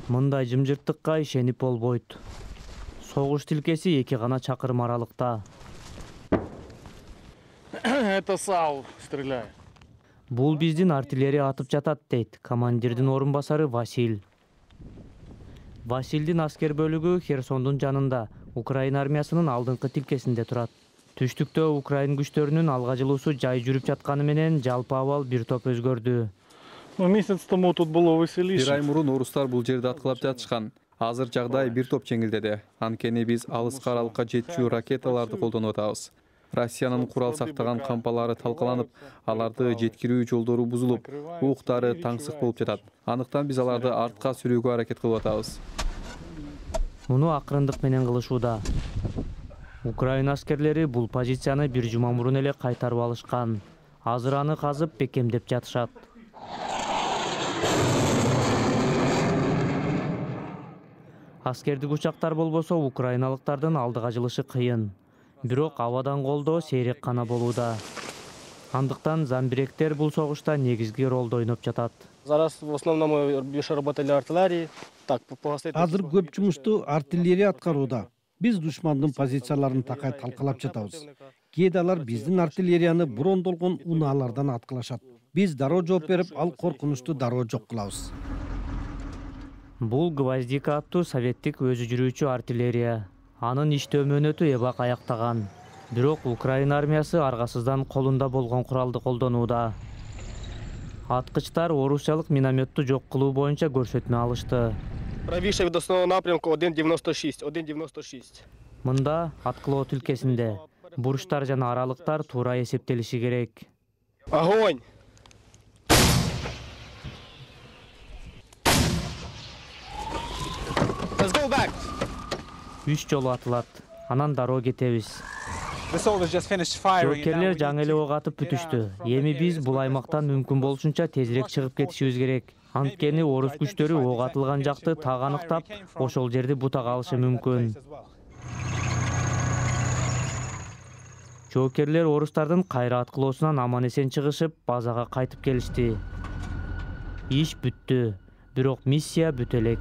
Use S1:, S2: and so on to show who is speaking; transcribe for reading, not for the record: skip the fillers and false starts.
S1: Мындай жымжырттыкка ишенип болбойт. Согуш тилкеси 2 гана чакырым аралыкта.
S2: Это САУ стреляет.
S1: Бул биздин артиллерия атып жатат, дейт командирдин орун басары Василь. Васильдин аскер бөлүгү Херсондун жанында, Украина армиясынын алдыңкы тилкесинде турат. Түштүктө Украин күчтөрүнүн алга жылуусу жай жүрүп жатканы менен жалпы абал бир топ өзгөрдү.
S2: Месяц тому тут было веселище.
S3: Бир ай мурун орустар бул жерде аткылап жатышкан. Азыр жагдай бир топ жеңилдеди. Анткени биз алыска аралыкка жетчү ракеталарды колдонуп атабыз. Россиянын курал сактаган кампалары талкаланып, аларды жеткирүү жолдору бузулуп, уктары таңсык болуп жатат. Андыктан биз аларды артка сүрүүгө аракет кылып атабыз.
S1: Муну акырындык менен кылышууда. Украина аскерлери бул позицияны бир жума мурун эле кайтарып алышкан. Азыр аны казып бекемдеп жатышат. Аскердик учактар болбосо украиналыктардын алдыга жылышы кыйын. Бирок абадан колдоо сейрек гана болууда. Андыктан замбиректер бул согушта негизги ролду ойноп жатат.
S4: Зараз в основном мы больше работали артиллерии.
S5: Азыр көп жумушту артиллерия аткарууда. Биз душмандын позицияларын такай талкалап жатабыз. Кээде алар биздин артиллерияны брондолгон унаалардан аткылашат. Биз дароо жооп берип, ал коркунучту дароо жок кылабыз.
S1: Бул Гвоздика аттуу советтик өзү жүрүүчү артиллерия. Анын иштөө мөөнөтү эбак аяктаган. Бирок Украина армиясы аргасыздан колунда болгон куралды колдонууда. Аткычтар орусчалык минометту жок кылуу боюнча көрсөтмө алышты.
S4: Правейший від основного напрямку 1.96.
S1: Мында аткылоо тилкесинде бурчтар жана аралыктар туура эсептелиши керек.
S4: Огонь!
S1: 3 жолу атылат. Анан дароо кетебиз. Жоокерлер жаңы эле ок атып бүтүштү. Эми биз бул аймактан мүмкүн болушунча тезирээк чыгып кетишибиз керек. Анткени орус күчтөрү ок атылган жакты так аныктап, ошол жерди бутага алышы мүмкүн. Жоокерлер орустардын кайра аткылоосунан аман эсен чыгышып, базага кайтып келишти. Иш бүттү, бирок миссия бүтө элек.